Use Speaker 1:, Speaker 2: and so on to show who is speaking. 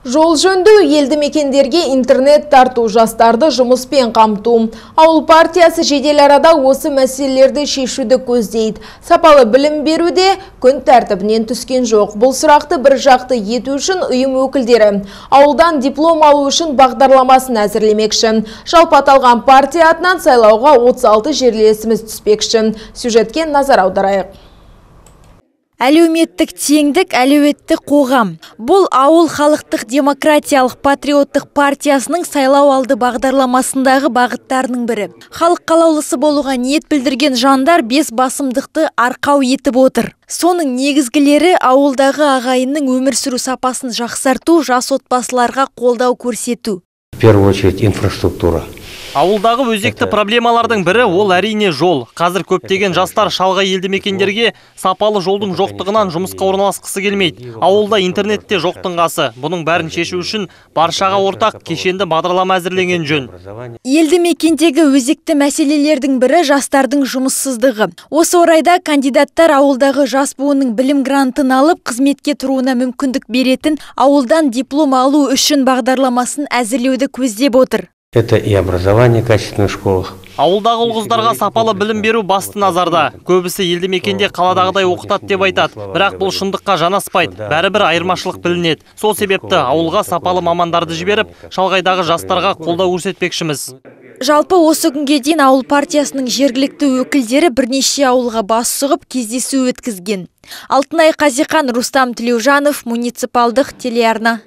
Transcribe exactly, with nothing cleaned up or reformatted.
Speaker 1: Жол жөндеу, елді мекендерге интернет тарту, жастарды жұмыспен қамту. Ауыл партиясы жедел арада осы мәселелерді шешуді көздейді. Сапалы білім беруде күн тәртібінен түскен жоқ. Бұл сұрақты бір жақты ету үшін ұйым өкілдері ауылдан диплом алу үшін бағдарламасын әзірлемекші. Жалпы аталған партия атынан сайлауға отыз алты жерлесіміз түспекші. Сюжетке назар аударайық.
Speaker 2: Әлеуметтік теңдік, әлеуетті қоғам. Бұл ауыл халықтық демократиялық патриоттық партиясының сайлау алды бағдарламасындағы бағыттарының бірі. Халық қалаулысы болуға ниет білдірген жандар бес басымдықты арқау етіп отыр. Соның негізгілері ауылдағы ағайынның өмір сүру сапасын жақсарту, жас отбасыларға қолдау көрсету.
Speaker 3: В первую очередь инфраструктура.
Speaker 4: Ауылдағы өзекті проблемалардың бірі ол әрине жол. Қазір көптеген жастар шалғай елді мекендерге сапалы жолдың жоқтығынан жұмысқа орналасқысы келмейді. Ауылда интернетте жоқтың қасы. Бұның бәрін шешу үшін баршаға ортақ кешенді бағдарлама әзірленген жөн.
Speaker 2: Елді мекендегі өзекті мәселелердің бірі жастардың жұмыссыздығы. Осы орайда кандидаттар ауылдағы жас буынның білім грантын алып, қызметке тұруына мүмкіндік беретін ауылдан диплом алу үшін бағдарламасын әзірлеуді көздеп отыр.
Speaker 3: Это и образование в качественных школах.
Speaker 4: Ауылдағы ұл-қыздарға сапалы білім беру басты назарда. Көбісі елді мекенде қаладағыдай оқытады деп айтады. Бірақ бұл шындыққа жанаспайды. Бәрібір айырмашылық білінеді. Сол себепті ауылға сапалы мамандарды жіберіп, шалғайдағы жастарға қолдау көрсетпекшіміз.
Speaker 2: Жалпы осы күнге дейін ауыл партиясының жергілікті өкілдері бірнеше ауылға бас сұғып кездесу өткізген. Алтынай Қазихан, Рустам Тілеужанов, муниципалдық телеарна.